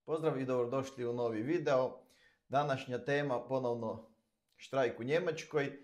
Pozdrav i dobrodošli u novi video. Današnja tema ponovno štrajk u Njemačkoj.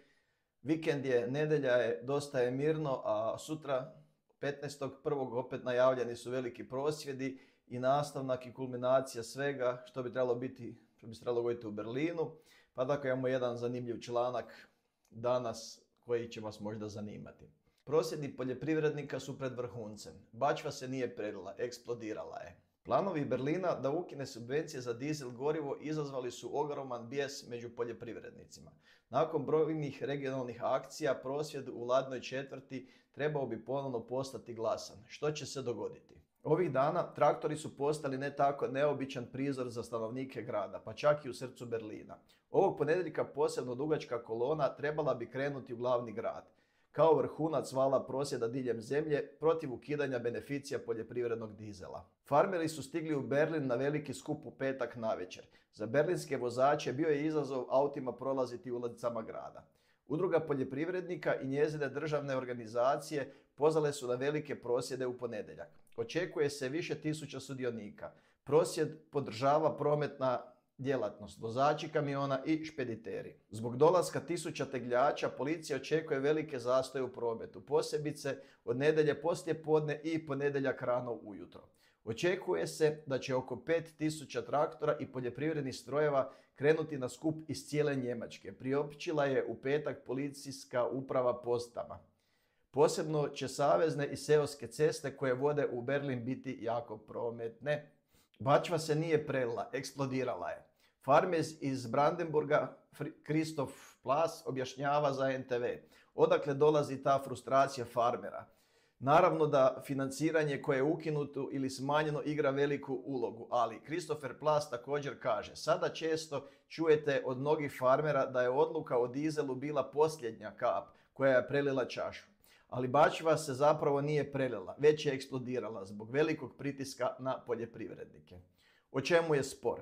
Vikend je, nedjelja je, dosta je mirno, a sutra 15.1. opet najavljeni su veliki prosvjedi i nastavnak i kulminacija svega što bi trebalo biti, što bi se trebalo govoriti u Berlinu. Pa tako imamo jedan zanimljiv članak danas koji će vas možda zanimati. Prosvjedi poljoprivrednika su pred vrhuncem. Bačva se nije prelila, eksplodirala je. Planovi Berlina da ukine subvencije za dizel gorivo izazvali su ogroman bijes među poljoprivrednicima. Nakon brojnih regionalnih akcija, prosvjed u Ladnoj četvrti trebao bi ponovno postati glasan. Što će se dogoditi? Ovih dana traktori su postali ne tako neobičan prizor za stanovnike grada, pa čak i u srcu Berlina. Ovog ponedjeljka posebno dugačka kolona trebala bi krenuti u glavni grad, kao vrhunac vala prosvjeda diljem zemlje protiv ukidanja beneficija poljoprivrednog dizela. Farmeri su stigli u Berlin na veliki skup u petak navečer. Za berlinske vozače bio je izazov autima prolaziti ulicama grada. Udruga poljoprivrednika i njezine državne organizacije pozvale su na velike prosvjede u ponedjeljak. Očekuje se više tisuća sudionika. Prosvjed podržava prometna djelatnost, vozači kamiona i špediteri. Zbog dolaska tisuća tegljača policija očekuje velike zastoje u prometu, posebice od nedjelje poslijepodne i ponedjeljak rano ujutro. Očekuje se da će oko 5000 traktora i poljoprivrednih strojeva krenuti na skup iz cijele Njemačke, priopćila je u petak policijska uprava postama. Posebno će savezne i seoske ceste koje vode u Berlin biti jako prometne. Bačva se nije prelila, eksplodirala je. Farmer iz Brandenburga Christoph Plas objašnjava za NTV. Odakle dolazi ta frustracija farmera? Naravno da financiranje koje je ukinuto ili smanjeno igra veliku ulogu, ali Christopher Plas također kaže: sada često čujete od mnogih farmera da je odluka o dizelu bila posljednja kap koja je prelila čašu. Ali bačva se zapravo nije prelila, već je eksplodirala zbog velikog pritiska na poljoprivrednike. O čemu je spor?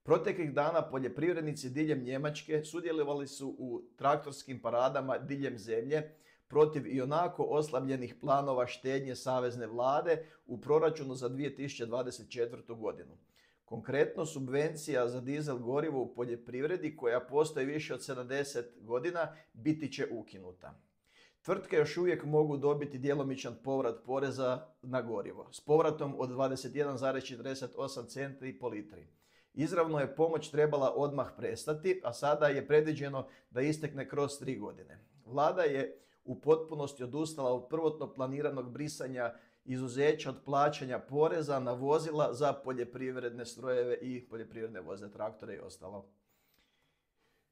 Proteklih dana poljoprivrednici diljem Njemačke sudjelovali su u traktorskim paradama diljem zemlje protiv ionako oslabljenih planova štednje savezne vlade u proračunu za 2024. godinu. Konkretno, subvencija za dizel gorivo u poljoprivredi, koja postoji više od 70 godina, biti će ukinuta. Tvrtke još uvijek mogu dobiti djelomičan povrat poreza na gorivo s povratom od 21,48 centi po litri. Izravno je pomoć trebala odmah prestati, a sada je predviđeno da istekne kroz 3 godine. Vlada je u potpunosti odustala od prvotno planiranog brisanja izuzeća od plaćanja poreza na vozila za poljoprivredne strojeve i poljoprivredne vozne traktore i ostalo.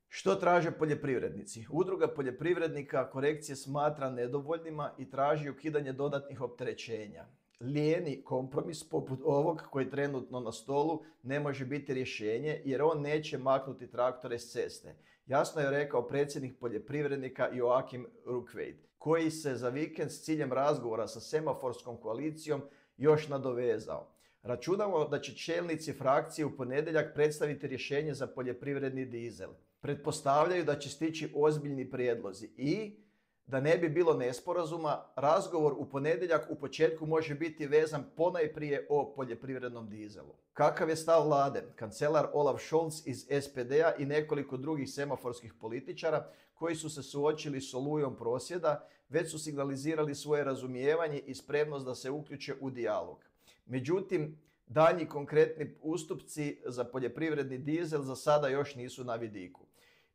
Što traže poljoprivrednici? Udruga poljoprivrednika korekcije smatra nedovoljnima i traži ukidanje dodatnih opterećenja. Lijeni kompromis poput ovog koji je trenutno na stolu ne može biti rješenje jer on neće maknuti traktore s ceste. Jasno je rekao predsjednik poljoprivrednika Joachim Ruckwied, koji se za vikend s ciljem razgovora sa semaforskom koalicijom još nadovezao. Računamo da će čelnici frakcije u ponedjeljak predstaviti rješenje za poljoprivredni dizel. Pretpostavljaju da će stići ozbiljni prijedlozi i, da ne bi bilo nesporazuma, razgovor u ponedjeljak u početku može biti vezan ponajprije o poljoprivrednom dizelu. Kakav je stav vlade? Kancelar Olaf Scholz iz SPD-a i nekoliko drugih semaforskih političara koji su se suočili s olujom prosvjeda već su signalizirali svoje razumijevanje i spremnost da se uključe u dijalog. Međutim, daljnji konkretni ustupci za poljoprivredni dizel za sada još nisu na vidiku.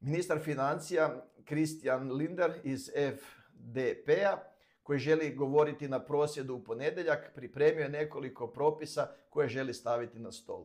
Ministar financija Christian Lindner iz FDP-a, koji želi govoriti na prosvjedu u ponedjeljak, pripremio je nekoliko propisa koje želi staviti na stol.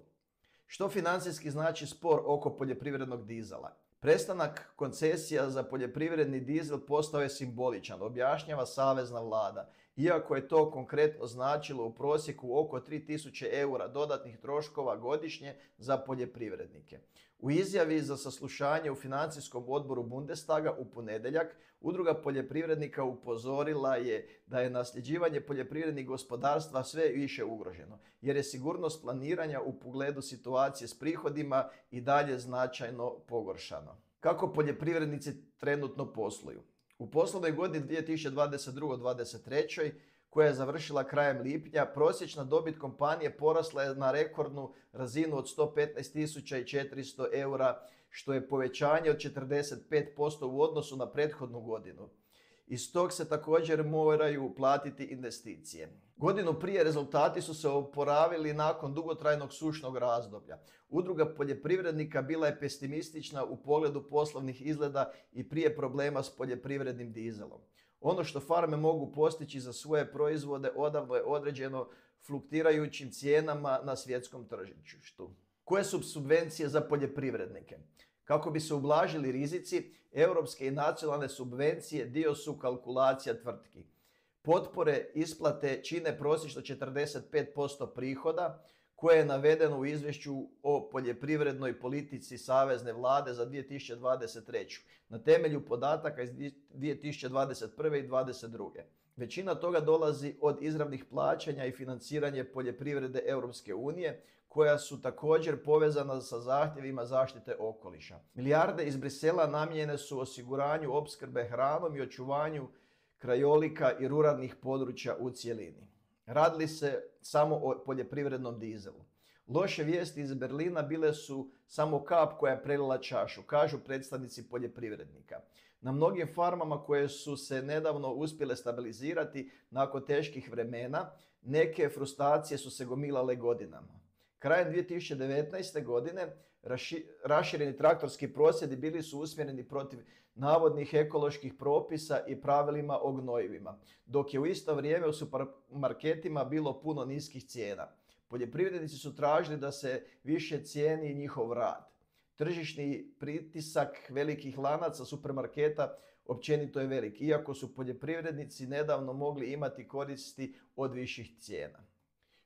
Što financijski znači spor oko poljoprivrednog dizela? Prestanak koncesija za poljoprivredni dizel postao je simboličan, objašnjava savezna vlada, iako je to konkretno značilo u prosjeku oko 3000 eura dodatnih troškova godišnje za poljoprivrednike. U izjavi za saslušanje u financijskom odboru Bundestaga u ponedjeljak, udruga poljoprivrednika upozorila je da je nasljeđivanje poljoprivrednih gospodarstva sve više ugroženo, jer je sigurnost planiranja u pogledu situacije s prihodima i dalje značajno pogoršano. Kako poljoprivrednici trenutno posluju? U poslovnoj godini 2022-2023 koja je završila krajem lipnja, prosječna dobit kompanije porasla je na rekordnu razinu od 115.400 eura, što je povećanje od 45% u odnosu na prethodnu godinu. Iz tog se također moraju platiti investicije. Godinu prije rezultati su se oporavili nakon dugotrajnog sušnog razdoblja. Udruga poljoprivrednika bila je pesimistična u pogledu poslovnih izgleda i prije problema s poljoprivrednim dizelom. Ono što farme mogu postići za svoje proizvode odavno je određeno fluktirajućim cijenama na svjetskom tržištu. Koje su subvencije za poljoprivrednike? Kako bi se ublažili rizici, europske i nacionalne subvencije dio su kalkulacija tvrtki. Potpore isplate čine prosječno 45% prihoda, koje je navedeno u izvješću o poljoprivrednoj politici Savezne vlade za 2023. na temelju podataka iz 2021. i 2022. Većina toga dolazi od izravnih plaćanja i financiranje poljoprivrede Europske unije, koja su također povezana sa zahtjevima zaštite okoliša. Milijarde iz Brisela namijenjene su osiguranju opskrbe hranom i očuvanju krajolika i ruralnih područja u cjelini. Radili se samo o poljoprivrednom dizelu. Loše vijesti iz Berlina bile su samo kap koja je prelila čašu, kažu predstavnici poljoprivrednika. Na mnogim farmama koje su se nedavno uspjele stabilizirati nakon teških vremena, neke frustracije su se gomilale godinama. Krajem 2019. godine rašireni traktorski prosvjedi bili su usmjereni protiv navodnih ekoloških propisa i pravilima o gnojivima, dok je u isto vrijeme u supermarketima bilo puno niskih cijena. Poljoprivrednici su tražili da se više cijeni njihov rad. Tržišni pritisak velikih lanaca supermarketa općenito je velik, iako su poljoprivrednici nedavno mogli imati koristi od viših cijena.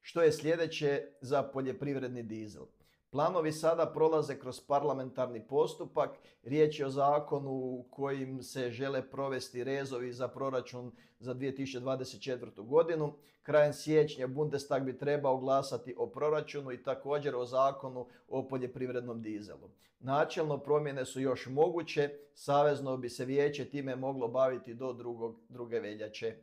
Što je sljedeće za poljoprivredni dizel? Planovi sada prolaze kroz parlamentarni postupak. Riječ je o zakonu kojim se žele provesti rezovi za proračun za 2024. godinu. Krajem siječnja Bundestag bi trebao glasati o proračunu i također o zakonu o poljoprivrednom dizelu. Načelno promjene su još moguće. Savezno bi se vijeće time moglo baviti do 2. veljače.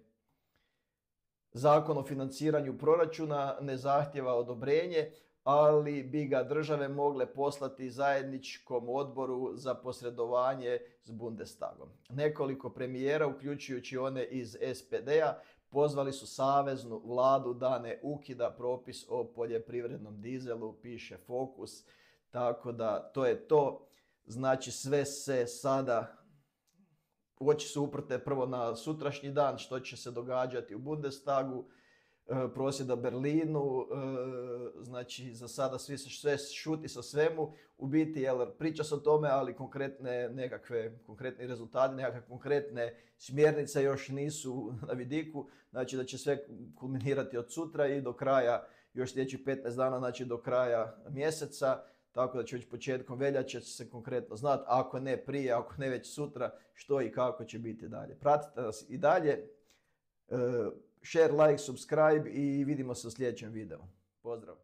Zakon o financiranju proračuna ne zahtjeva odobrenje, ali bi ga države mogle poslati zajedničkom odboru za posredovanje s Bundestagom. Nekoliko premijera, uključujući one iz SPD-a, pozvali su saveznu vladu da ne ukida propis o poljoprivrednom dizelu, piše Fokus. Tako da to je to. Znači sve se sada oči su uprte prvo na sutrašnji dan, što će se događati u Bundestagu, prosvjeda u Berlinu, znači za sada sve šuti sa svemu, u biti priča se o tome, ali konkretni rezultati, nekakve konkretne smjernice još nisu na vidiku, znači da će sve kulminirati od sutra i do kraja, još sljedećih 15 dana, znači do kraja mjeseca, tako da će već početkom veljače se konkretno znati, ako ne prije, ako ne već sutra, što i kako će biti dalje. Pratite nas i dalje, share, like, subscribe i vidimo se u sljedećem videu. Pozdrav!